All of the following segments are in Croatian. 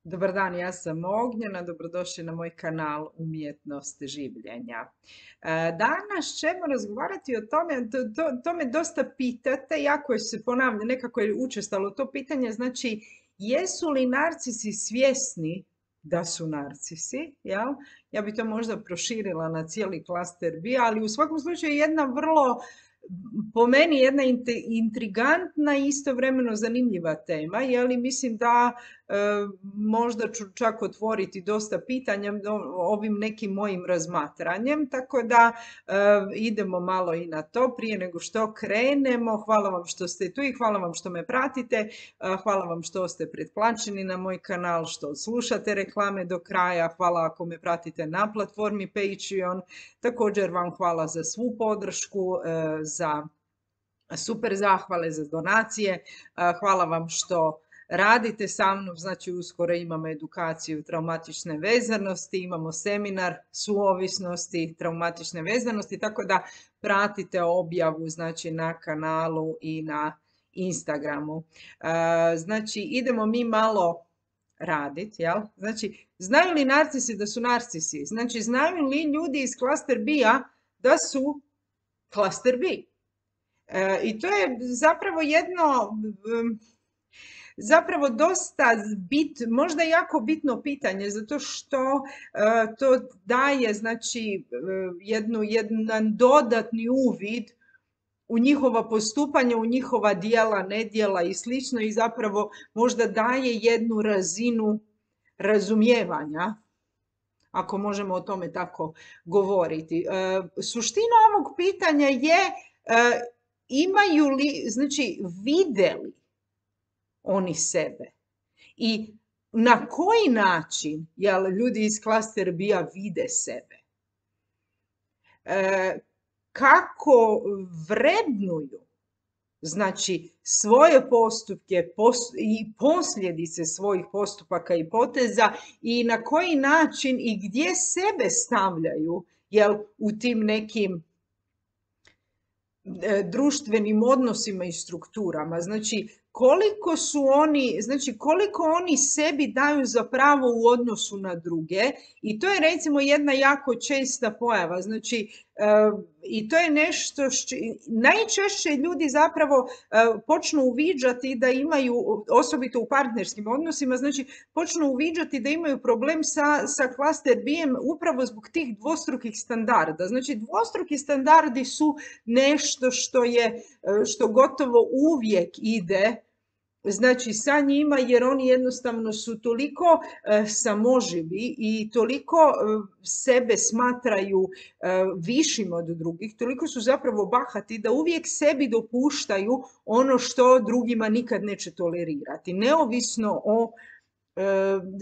Dobar dan, ja sam Ognjena, dobrodošli na moj kanal Umjetnost življenja. Danas ćemo razgovarati o tome, to me dosta pitate, jako se ponavlja, nekako je učestalo to pitanje, znači jesu li narcisi svjesni da su narcisi, jel? Ja bi to možda proširila na cijeli klaster B, ali u svakom slučaju jedna vrlo, po meni jedna intrigantna i istovremeno zanimljiva tema, jer mislim da možda ću čak otvoriti dosta pitanja ovim nekim mojim razmatranjem, tako da idemo malo i na to prije nego što krenemo. Hvala vam što ste tu i hvala vam što me pratite, hvala vam što ste pretplaćeni na moj kanal, što slušate reklame do kraja, hvala ako me pratite na platformi Patreon, također vam hvala za svu podršku, za super zahvale, za donacije, hvala vam što radite sa mnom, znači uskoro imamo edukaciju traumatične vezanosti, imamo seminar suovisnosti, traumatične vezanosti, tako da pratite objavu znači na kanalu i na Instagramu. Znači idemo mi malo raditi, jel? Znači, znaju li narcisi da su narcisi? Znači, znaju li ljudi iz klaster B-a da su klaster B? I to je zapravo zapravo dosta možda jako bitno pitanje, zato što to daje znači jedan dodatni uvid u njihova postupanja, u njihova djela, nedjela i slično i zapravo možda daje jednu razinu razumijevanja, ako možemo o tome tako govoriti. Suština ovog pitanja je imaju li, znači vide li oni sebe i na koji način ljudi iz klaster B-a vide sebe, kako vrednuju znači svoje postupke i posljedice svojih postupaka i poteza i na koji način i gdje sebe stavljaju u tim nekim društvenim odnosima i strukturama. Znači koliko oni sebi daju za pravo u odnosu na druge i to je recimo jedna jako česta pojava. Znači i to je nešto najčešće ljudi zapravo počnu uviđati da imaju, osobito u partnerskim odnosima, znači počnu uviđati da imaju problem sa klaster B-em upravo zbog tih dvostrukih standarda. Znači dvostruki standardi su nešto što gotovo uvijek ide znači sa njima, jer oni jednostavno su toliko samoživi i toliko sebe smatraju višim od drugih, toliko su zapravo bahati da uvijek sebi dopuštaju ono što drugima nikad neće tolerirati, neovisno o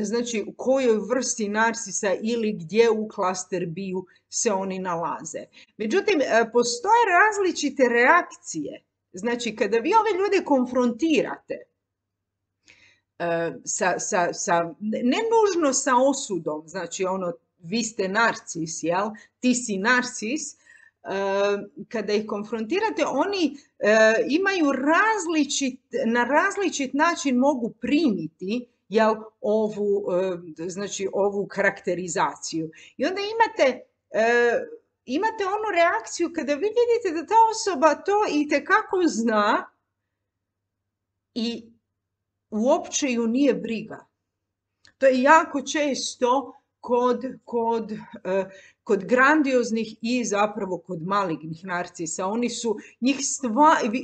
znači u kojoj vrsti narcisa ili gdje u klaster B-u se oni nalaze. Međutim, postoje različite reakcije. Znači, kada vi ove ljude konfrontirate ne nužno sa osudom, znači ono, vi ste narcis, jel? Ti si narcis, kada ih konfrontirate, oni imaju na različit način mogu primiti ovu karakterizaciju. I onda imate onu reakciju kada vi vidite da ta osoba to itekako zna i uopće ju nije briga. To je jako često kod grandioznih i zapravo kod malignih narcisa. Oni su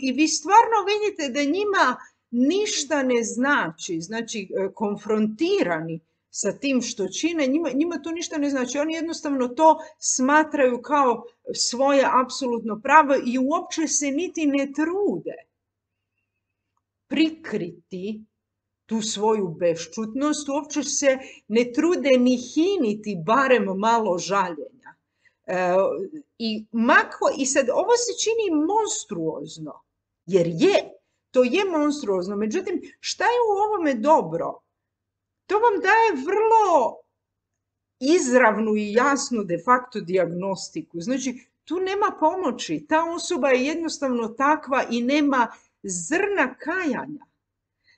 i vi stvarno vidite da njima ništa ne znači, znači konfrontirani sa tim što čine, njima to ništa ne znači. Oni jednostavno to smatraju kao svoje apsolutno pravo i uopće se niti ne trude prikriti tu svoju bešćutnost, uopće se ne trude ni hiniti barem malo žaljenja. I sad ovo se čini monstruozno, jer to je monstruozno. Međutim, šta je u ovome dobro? To vam daje vrlo izravnu i jasnu de facto dijagnostiku. Znači, tu nema pomoći. Ta osoba je jednostavno takva i nema zrna kajanja.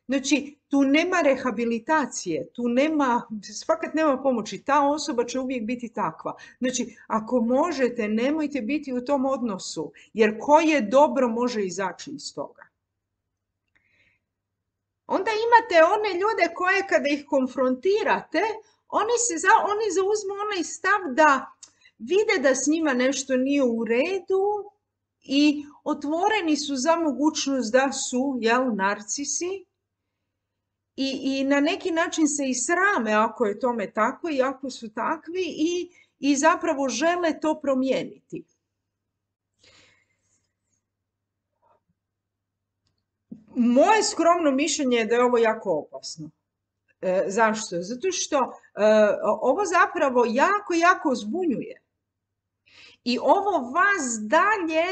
Znači, tu nema rehabilitacije, tu nema, fakat nema pomoći. Ta osoba će uvijek biti takva. Znači, ako možete, nemojte biti u tom odnosu, jer koje dobro može izaći iz toga. Onda imate one ljude koje kada ih konfrontirate, oni zauzmu onaj stav da vide da s njima nešto nije u redu i otvoreni su za mogućnost da su, narcisi. I na neki način se i srame ako je tome tako i ako su takvi i zapravo žele to promijeniti. Moje skromno mišljenje je da je ovo jako opasno. Zašto? Zato što ovo zapravo jako zbunjuje. I ovo vas dalje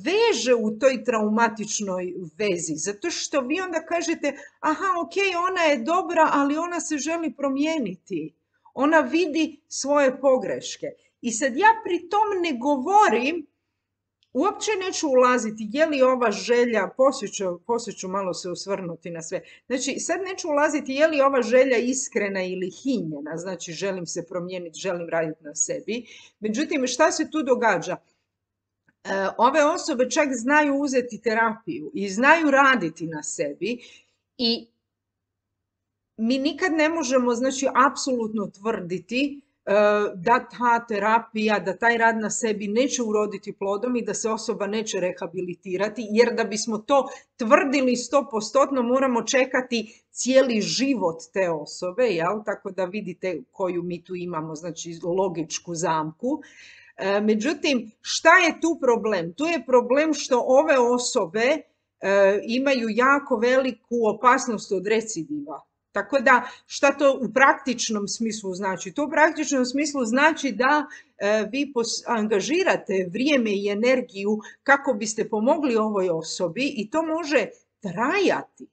veže u toj traumatičnoj vezi, zato što vi onda kažete, aha, ok, ona je dobra, ali ona se želi promijeniti. Ona vidi svoje pogreške. I sad ja pri tom ne govorim, uopće neću ulaziti, je li ova želja, poslije ću malo se osvrnuti na sve. Znači, sad neću ulaziti je li ova želja iskrena ili hinjena, znači želim se promijeniti, želim raditi na sebi. Međutim, šta se tu događa? Ove osobe čak znaju uzeti terapiju i znaju raditi na sebi i mi nikad ne možemo, znači, apsolutno tvrditi da ta terapija, da taj rad na sebi neće uroditi plodom i da se osoba neće rehabilitirati, jer da bismo to tvrdili 100% moramo čekati cijeli život te osobe, jel? Tako da vidite koju mi tu imamo, znači logičku zamku. Međutim, šta je tu problem? Tu je problem što ove osobe imaju jako veliku opasnost od recidiva. Tako da, šta to u praktičnom smislu znači? To u praktičnom smislu znači da vi angažirate vrijeme i energiju kako biste pomogli ovoj osobi i to može trajati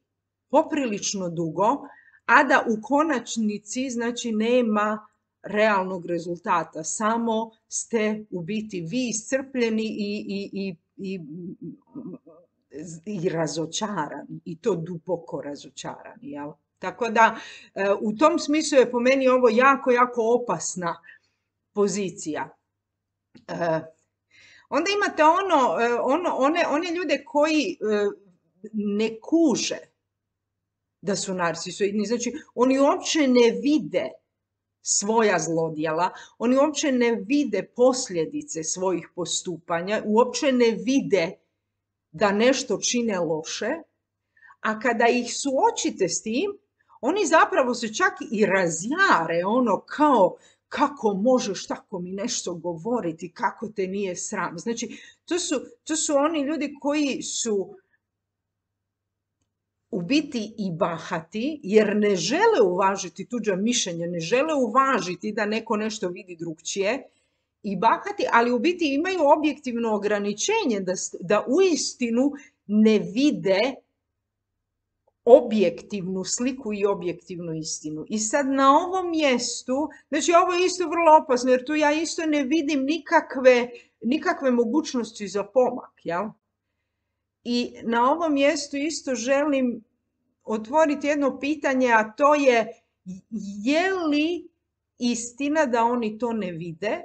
poprilično dugo, a da u konačnici, znači, nema realnog rezultata. Samo ste u biti vi iscrpljeni i razočarani, i to duboko razočarani, jel? Tako da u tom smislu je po meni ovo jako opasna pozicija. Onda imate one ljude koji ne kuže da su narcisoidni, znači oni uopće ne vide svoja zlodjela, oni uopće ne vide posljedice svojih postupanja, uopće ne vide da nešto čine loše, a kada ih suočite s tim, oni zapravo se čak i razjare, kao kako možeš tako mi nešto govoriti, kako te nije sram. Znači, to su oni ljudi koji su u biti i bahati, jer ne žele uvažiti tuđa mišljenja, ne žele uvažiti da neko nešto vidi drugčije, i bahati, ali u biti imaju objektivno ograničenje da uistinu ne vide objektivnu sliku i objektivnu istinu. I sad na ovom mjestu, znači ovo je isto vrlo opasno, jer tu ja isto ne vidim nikakve mogućnosti za pomak, jel? I na ovom mjestu isto želim otvoriti jedno pitanje, a to je li istina da oni to ne vide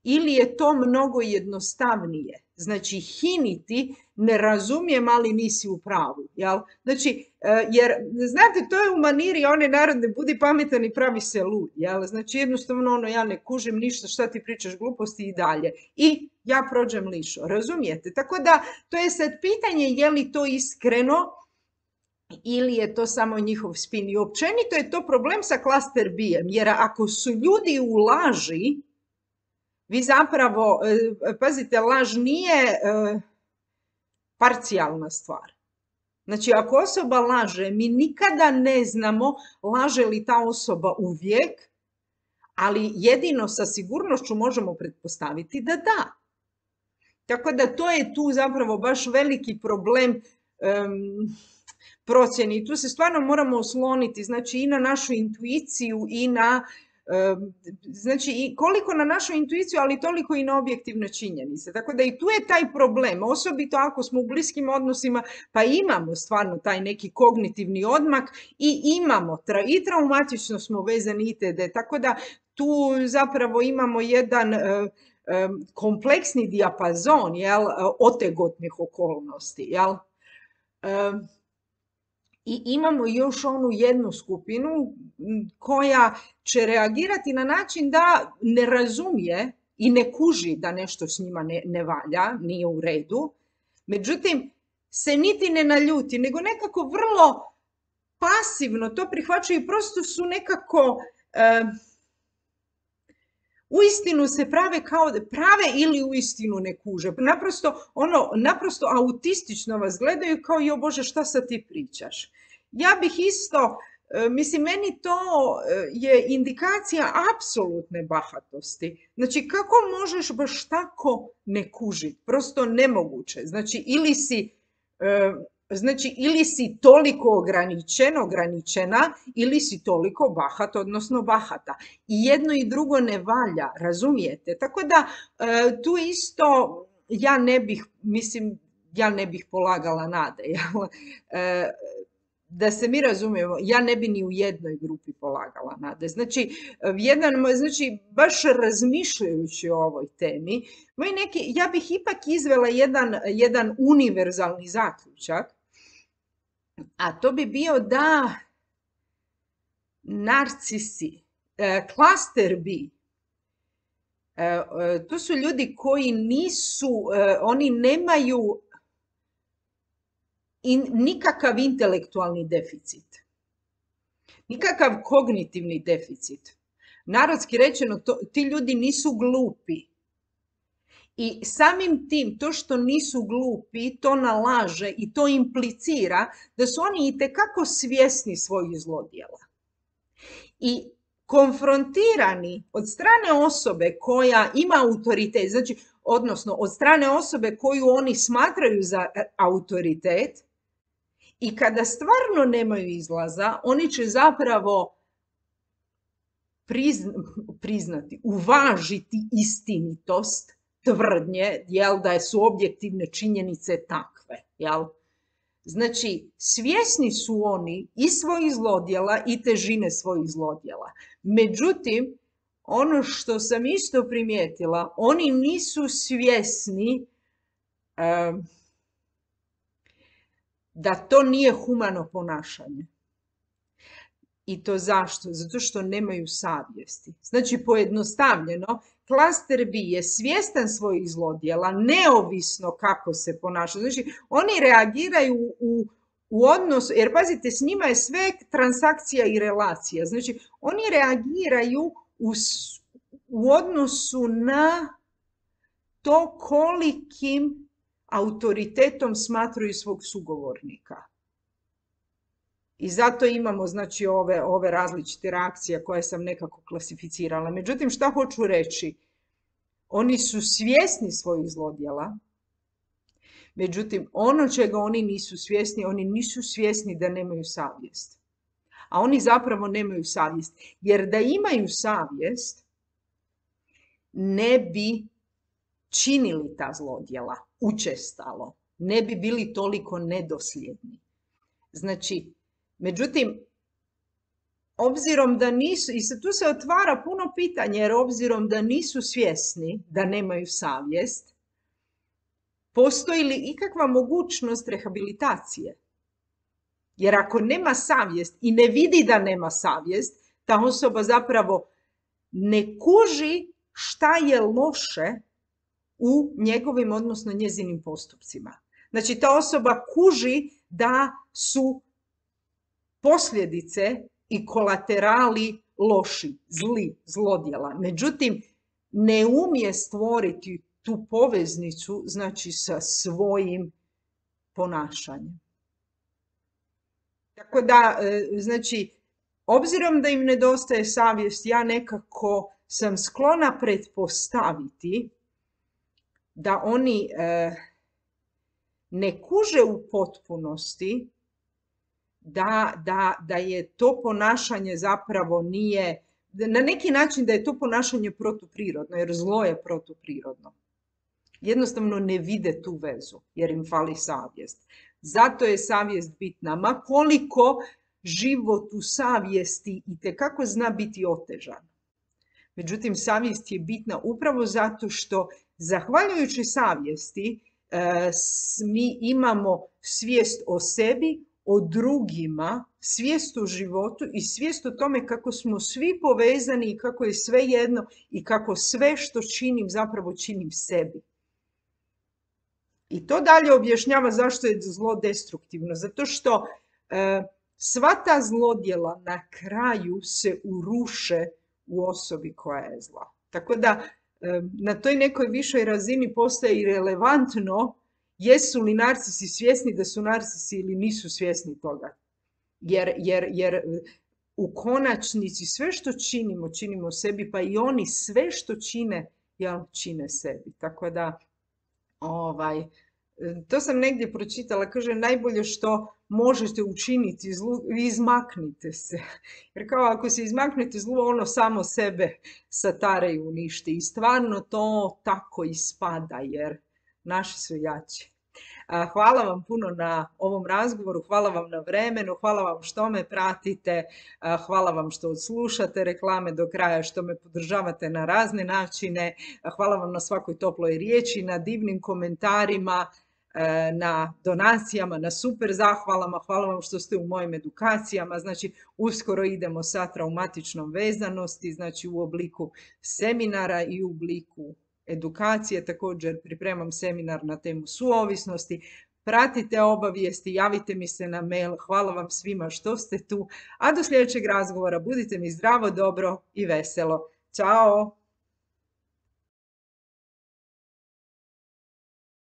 ili je to mnogo jednostavnije? Znači, hiniti, ne razumijem, ali nisi u pravu, jel? Znači, jer, znate, to je u maniri one narodne, budi pametan i pravi se lud, jel? Znači, jednostavno, ja ne kužim ništa, šta ti pričaš gluposti i dalje. I ja prođem lišo, razumijete? Tako da, to je sad pitanje je li to iskreno ili je to samo njihov spin. I općenito je to problem sa klaster B-em, jer ako su ljudi u laži, vi zapravo, pazite, laž nije parcijalna stvar. Znači, ako osoba laže, mi nikada ne znamo laže li ta osoba uvijek, ali jedino sa sigurnošću možemo pretpostaviti da da. Tako da to je tu zapravo baš veliki problem procjeni. Tu se stvarno moramo osloniti, znači, i na našu intuiciju i na znači i koliko na našu intuiciju, ali toliko i na objektivne činjenice. Tako da i tu je taj problem, osobito ako smo u bliskim odnosima, pa imamo stvarno taj neki kognitivni odmak i imamo, i traumatično smo vezani itd. Tako da tu zapravo imamo jedan kompleksni dijapazon, jel, otegotnih okolnosti, jel? I imamo još onu jednu skupinu koja će reagirati na način da ne razumije i ne kuži da nešto s njima ne valja, nije u redu. Međutim, se niti ne naljuti, nego nekako vrlo pasivno to prihvaćaju i prosto su nekako uistinu se prave kao da prave ili uistinu ne kuže. Naprosto autistično vas gledaju kao jo Bože šta sad ti pričaš. Ja bih isto, mislim meni to je indikacija apsolutne bahatosti. Znači kako možeš baš tako ne kužiti? Prosto nemoguće. Znači ili si toliko ograničena ili si toliko bahat, odnosno bahata. I jedno i drugo ne valja, razumijete? Tako da tu isto ja ne bih polagala nade. Da se mi razumijemo, ja ne bi ni u jednoj grupi polagala nade. Znači, baš razmišljajući o ovoj temi, ja bih ipak izvela jedan univerzalni zaključak, a to bi bio da narcisi, klaster B, to su ljudi koji oni nemaju nikakav intelektualni deficit, nikakav kognitivni deficit. Narodski rečeno, ti ljudi nisu glupi. I samim tim, to što nisu glupi, to nalaže i to implicira da su oni itekako svjesni svojih zlodjela. I konfrontirani od strane osobe koja ima autoritet, znači, odnosno od strane osobe koju oni smatraju za autoritet, i kada stvarno nemaju izlaza, oni će zapravo priznati, uvažiti istinitost tvrdnje, jel, da su objektivne činjenice takve, jel? Znači, svjesni su oni i svojih zlodjela i težine svojih zlodjela. Međutim, ono što sam isto primijetila, oni nisu svjesni da to nije humano ponašanje. I to zašto? Zato što nemaju savjesti. Znači, pojednostavljeno, klaster B je svjestan svojih zlodjela, neovisno kako se ponaša. Znači, oni reagiraju u odnosu, jer pazite, s njima je sve transakcija i relacija. Znači, oni reagiraju u odnosu na to kolikim autoritetom smatraju svog sugovornika. I zato imamo, znači, ove različite reakcije koje sam nekako klasificirala. Međutim, šta hoću reći? Oni su svjesni svojih zlodjela. Međutim, ono čega oni nisu svjesni da nemaju savjest. A oni zapravo nemaju savjest. Jer da imaju savjest, ne bi činili ta zlodjela učestalo. Ne bi bili toliko nedosljedni. Znači, međutim, obzirom da nisu, i tu se otvara puno pitanja, jer obzirom da nisu svjesni da nemaju savjest, postoji li ikakva mogućnost rehabilitacije? Jer ako nema savjest i ne vidi da nema savjest, ta osoba zapravo ne kuži šta je loše u njegovim, odnosno njezinim postupcima. Znači, ta osoba kuži da su posljedice i kolaterali loši, zlodjela. Međutim, ne umije stvoriti tu poveznicu, znači, sa svojim ponašanjem. Tako da, znači, obzirom da im nedostaje savjest, ja nekako sam sklona pretpostaviti da oni ne kuže u potpunosti da je to ponašanje zapravo nije, na neki način da je to ponašanje protuprirodno, jer zlo je protuprirodno. Jednostavno ne vide tu vezu, jer im fali savjest. Zato je savjest bitna, ma koliko život u savjesti itekako zna biti otežan. Međutim, savjest je bitna upravo zato što, zahvaljujući savjesti, mi imamo svijest o sebi, o drugima, svijest o životu i svijest o tome kako smo svi povezani i kako je sve jedno i kako sve što činim zapravo činim sebi. I to dalje objašnjava zašto je zlo destruktivno. Zato što sva ta zlodjela na kraju se uruše u osobi koja je zla. Tako da na toj nekoj višoj razini postaje i relevantno jesu li narcisi svjesni da su narcisi ili nisu svjesni toga. Jer u konačnici sve što činimo, činimo sebi, pa i oni sve što čine, čine sebi. Tako da, to sam negdje pročitala, kaže najbolje što možete učiniti zlu, vi izmaknite se. Jer kao ako se izmaknete zlu, ono samo sebe satare i uništi. I stvarno to tako ispada, jer naši su jači. Hvala vam puno na ovom razgovoru, hvala vam na vremenu, hvala vam što me pratite, hvala vam što odslušate reklame do kraja, što me podržavate na razne načine, hvala vam na svakoj toploj riječi, na divnim komentarima, na donacijama, na super zahvalama, hvala vam što ste u mojim edukacijama. Znači, uskoro idemo sa traumatičnom vezanosti, znači u obliku seminara i u obliku edukacije. Također pripremam seminar na temu suovisnosti. Pratite obavijesti, javite mi se na mail. Hvala vam svima što ste tu. A do sljedećeg razgovora budite mi zdravo, dobro i veselo. Ćao!